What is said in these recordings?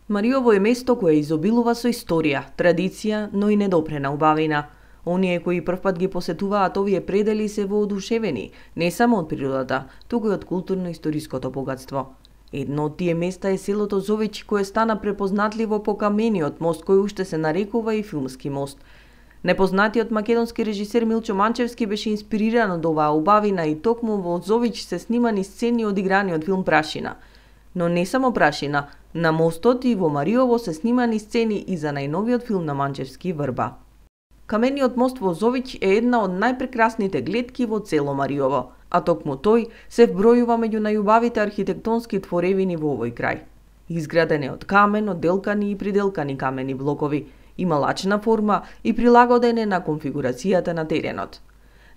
Мариово е место кое изобилува со историја, традиција, но и недопрена убавина. Оние кои првпат ги посетуваат овие предели се воодушевени, не само од природата, туку и од културно-историското богатство. Едно од тие места е селото Зович, кое стана препознатливо по камениот мост кој уште се нарекува и филмски мост. Непознатиот македонски режисер Милчо Манчевски беше инспириран од оваа убавина и токму во Зович се снимани сцени од играниот филм Прашина. Но не само Прашина, на мостот и во Мариово се снимани сцени и за најновиот филм на Манчевски Врба. Камениот мост во Зович е една од најпрекрасните гледки во цело Мариово, а токму тој се вбројува меѓу најубавите архитектонски творевини во овој крај. Изграден е од камен, одделкани и приделкани камени блокови, има лачна форма и прилагоден е на конфигурацијата на теренот.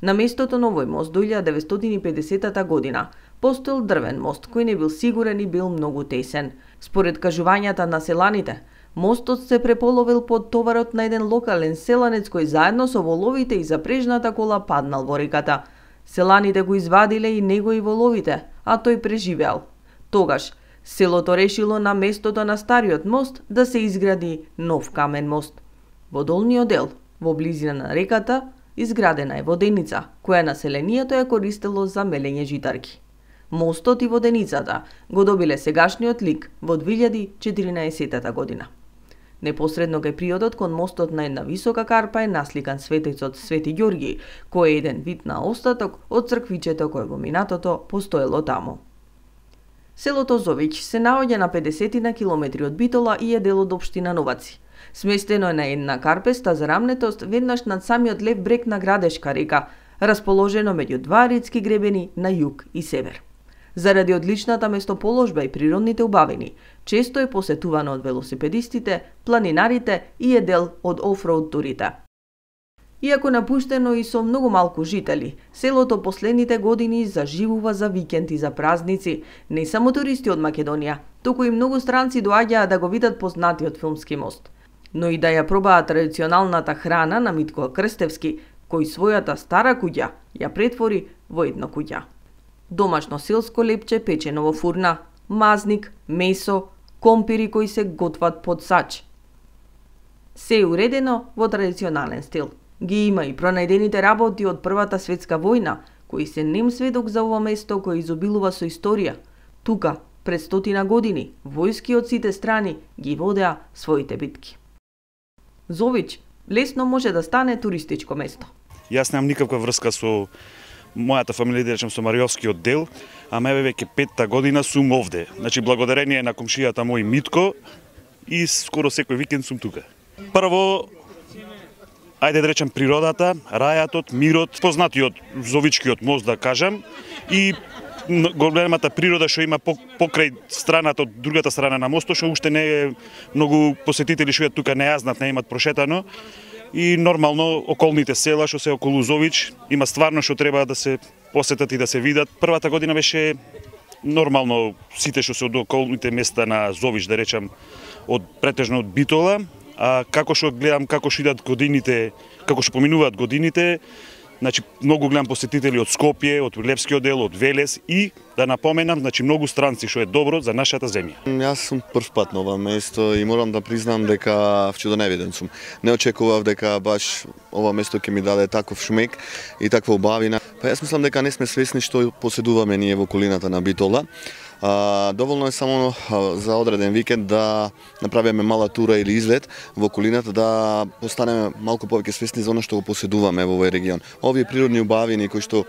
На местото на овој мост до 1950 година постоел дрвен мост кој не бил сигурен и бил многу тесен. Според кажувањата на селаните, мостот се преполовил под товарот на еден локален селанец кој заедно со воловите и запрежната кола паднал во реката. Селаните го извадиле и него и воловите, а тој преживеал. Тогаш селото решило на местото на стариот мост да се изгради нов камен мост. Во долниот дел, во близина на реката, изградена е воденица, која населението ја користело за мелење житарки. Мостот и воденицата го добиле сегашниот лик во 2014 година. Непосредно кај приодот кон мостот на една висока карпа е насликан светецот Свети Ѓорги, кој е еден вид на остаток од црквичето кое во минатото постоело таму. Селото Зович се наоѓа на 50 на километри од Битола и е дел од општина Новаци. Сместено е на една карпеста зарамнетост веднаш над самиот лев брег на Градешка река, расположено меѓу два речки гребени на југ и север. Заради одличната местоположба и природните убавини, често е посетувано од велосипедистите, планинарите и е дел од офроуд турите. Иако напуштено и со многу малку жители, селото последните години заживува за викенд и за празници. Не само туристи од Македонија, туку и многу странци доаѓаат да го видат познатиот филмски мост. Но и да ја пробаат традиционалната храна на Митко Крстевски, кој својата стара куќа ја претвори во едно куќа. Домашно селско лепче печено во фурна, мазник, месо, компири кои се готват под сач. Се е уредено во традиционален стил. Ги има и пронајдените работи од Првата светска војна, кои се нем сведок за ова место кое изобилува со историја. Тука, пред 100 години, војски од сите страни ги водеа своите битки. Зович лесно може да стане туристичко место. Јас немам никаква врска со мојата фамилија, да речем со Мариовскиот дел, ама еве веќе 5-та година сум овде. Значи благодарение на комшијата мој Митко и скоро секој викенд сум тука. Прво, ајде да речем природата, рајатот, мирот, познатиот Зовичкиот мост да кажам и големата природа што има покрај страната од другата страна на мостот, што уште не е многу посетители што тука не ја знаат, не имат прошетано. И нормално околните села што се околу Зович има стварно што треба да се посетат и да се видат. Првата година беше нормално сите што се од околните места на Зович, да речам, претежно од Битола, а како што гледам како што идат годините, како што поминуваат годините, значи многу гледам посетители од Скопје, од Лепскиот дел, од Велес и да напоменам, значи многу странци што е добро за нашата земја. Јас сум прв пат на ова место и морам да признам дека чудоневиден сум. Не очекував дека баш ова место ќе ми даде таков шмек и таква убавина. Па јас мислам дека не сме свесни што поседуваме ние во околината на Битола. Доволно е само за одреден викенд да направиме мала тура или излет во околината, да постанеме малку повеќе свесни за оно што го поседуваме во овој регион. Овие природни убавини кои што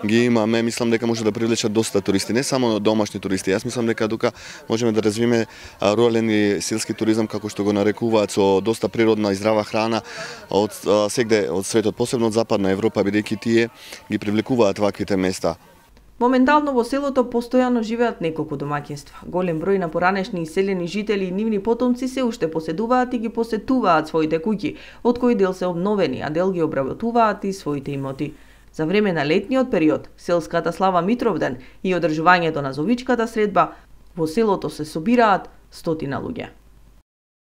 ги имаме, мислам дека може да привлечат доста туристи, не само домашни туристи. Јас мислам дека тука можеме да развиме рурален и селски туризам, како што го нарекуваат, со доста природна и здрава храна од сегде од светот, посебно од Западна Европа, бидејќи тие ги привлекуваат ваквите места. Моментално во селото постојано живеат неколку домаќинства. Голем број на поранешни иселени жители и нивни потомци се уште поседуваат и ги посетуваат своите куќи, од кои дел се обновени, а дел ги обработуваат и своите имоти. За време на летниот период, селската слава Митровден и одржувањето на Зовичката средба, во селото се собираат 100 луѓе.